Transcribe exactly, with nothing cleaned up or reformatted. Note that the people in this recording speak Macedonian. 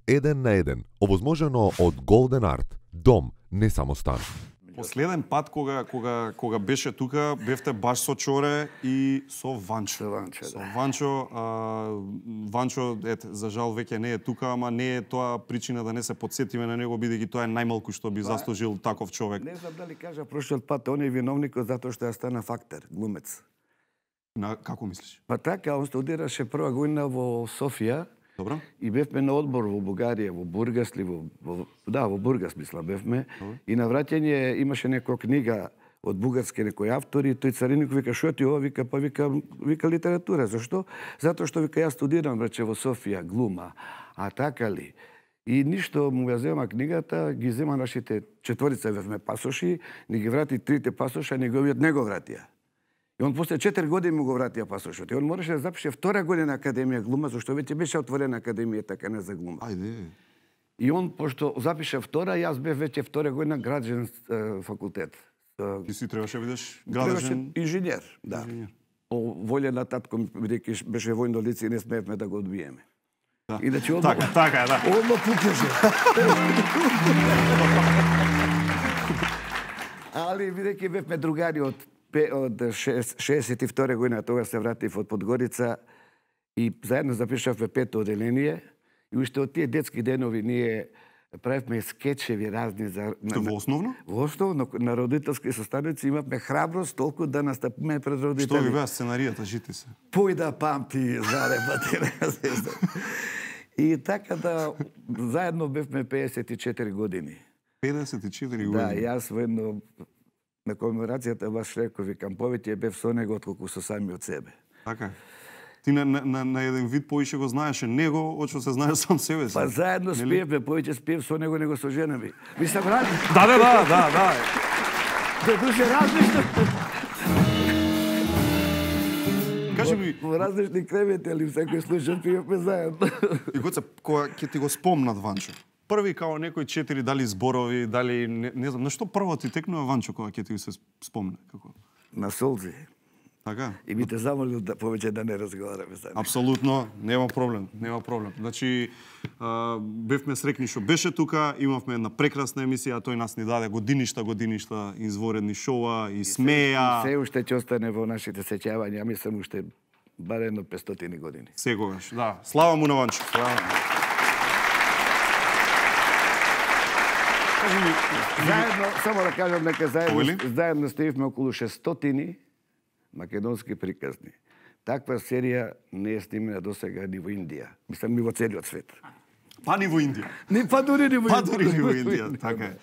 еден на еден, овозможено од Golden Art. Дом, не само стан. Последен пат кога кога кога беше тука, бевте баш со Чоре и со Ванчо. Со Ванчо, Со да. Ванчо, а, Ванчо, ете, за жал веќе не е тука, ама не е тоа причина да не се потсетиме на него, бидејќи тоа е најмалку што би заслужил таков човек. Не знам дали кажа прошлиот пат, он е виновникот затоа што ја стана фактор, глумец. На како мислиш? Па така, он студираше прва година во Софија. Добро? И бевме на одбор во Бугарија, во Бургас ли, во, во да, во Бургас мисла бевме. Добре. И на враќање имаше некоја книга од бугарски некој автори, тој цариник вика што ти ова, вика па вика вика литература. Зашто? Затоа што вика јас студирам рече во Софија глума. А така ли? И ништо му ја зема книгата, ги зема нашите четворица бевме пасоши, ни ги врати трите пасоша, неговиот не го вратија. И он после четири години му го вратија пасошот. И он мораше да запише втора година академија глума, зашто веќе беше отворена академија така не за глума. Ајде. И он пошто запише втора, јас бев веќе втора година граđен е, факултет. Ти си требаше бидеш Требаше градежен инженер, да. инженер. По волја на татко ми, бидејќи беше војно лице и не смеевме да го одбиеме. Да. Иначе одма, Така, така е, да. одма пукеше. Али бидејќи бевме другари од пе- од шеесет и втора година, тогаш се вратив од Подгорица и заедно запишавме пето оделение и уште од тие детски денови ние правевме скечеви разни за Што во основно? Во основно на родителски состаноци имавме храброст толку да настапиме пред Што ви родители. беа сценаријата, жити се? Пој да памти заребати. И така да заедно бевме пеесет и четири години. педесет и четири Да, години. јас воедно на комеморацијата баш реков, викам, повеќе бев со него отколку со самиот себе. Така. Ти на, на, на, на еден вид поише го знаеше него, очо се знаеш сам себе си. Па заедно Нели? спиевме, повеќе спиев со него него со жена ми. Мислам, различно. Да, да, да, да, да. До душе различно. Кажи ми, Во различни кревети, али секој случај пиевме заедно. и Гоце, кога ќе ти го спомнат Ванчо, први као некои четири, дали зборови, дали, не, не знам, на што прво ти текнува Ванчо кога ќе ти се спомне? Како? На солзи. Така? И би те замолил да повеќе да не разговараме за него. Апсолутно, нема проблем, нема проблем. Значи, а, бевме срекни што беше тука, имавме една прекрасна емисија, тој нас ни даде годиништа, годиништа изворедни шоуа и смеја. Се уште ќе остане во нашите сеќавања, мислам уште барем едно петстотини години. Секогаш, да. Слава му на Ванчо. Слава. Кажи ми, Заедно, само да кажам дека заедно, Овели? заедно ставивме околу шестстотини македонски приказни. Таква серија не е снимена досега ни во Индија. Мислам, ни во целиот свет. па ни во Индија. Ни па дури ни во Па дури ни во Индија, така е.